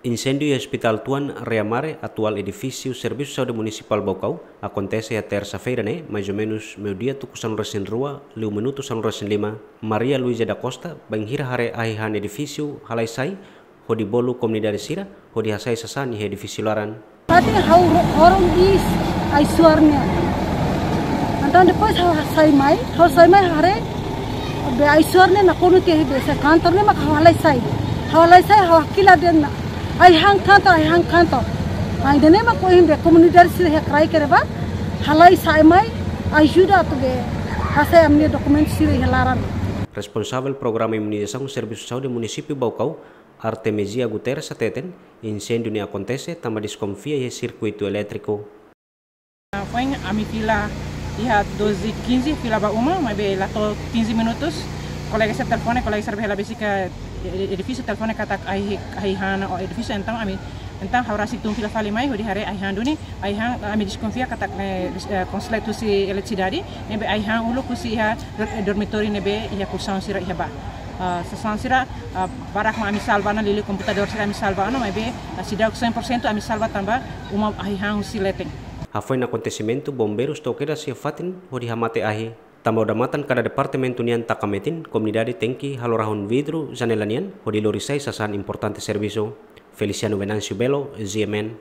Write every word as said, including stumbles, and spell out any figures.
Inséndiu iha Hospital Tuan Reamare, atuál edifísiu Servisu Saúde Munisipál Baucau, akontese iha tersa-feira ne'e, mais ou menus meiudia tuku sanulu-resin-rua, liu minutu sanulu-resin-lima, Maria Luísa da Costa, bainhira haree ahi-han edifísiu halai sai, hodi bolu komunidade sira hodi hasai sasán iha edifísiu laran. Ati ha'u ro-, horon is ai-suar nian. Entaun depois ha'u hasai mai, ha'u sai mai haree, be ai-suar nian nakonu tiha be se kantor ne'e maka ha'u halai sai. Ha'u halai sai, ha'u hakilar de'it ona. Ai-han kantor, ai-han kantor. Ai ida-ne'e mak ohin be komunidade sira iha kraik ne'ebá, halai sai mai, ajuda atu be hasai ami-nia dokumentu sira iha laran. Responsavel Programa Imunizasaun Servisu Saúde Munisípiu Baucau, Artemisia Guterres hateten, inséndiu ne'e akontese tanba deskonfia iha sirkuitu elétriku. Foin ami fila iha doze e quinze, fila ba uma, maibé la to'o quinze minutos. Kolega sira telefone, kolega sira be hela besik iha edifísiu telefone katak ai, ai-han edifísiu, entaun ami, entaun ha'u rasik tun fila fali mai hodi haree ai-han duni. Ai-han, ami deskonfia katak ne'e, eh, konslet husi eletrisidade, ne'ebé ai-han uluk husi iha dor-, dormitóriu ne'ebé iha kolxaun sira iha bá. Ah, sasán sira, ah, barak mak ami salva ona, liuliu komputadór sira ami salva ona, maibé, ah, seidauk cem por cento ami salva tanba uma ai-han husi leten. Hafoin akontesimentu, bombeirus to'o kedas iha fatin hodi hamate ahi. Tanba odamatan kada departamentu nian taka metin, komunidade tenke halo rahun vidru janela nian hodi lori sai sasán importante servisu. Feliciano Venâncio Belo, G M N.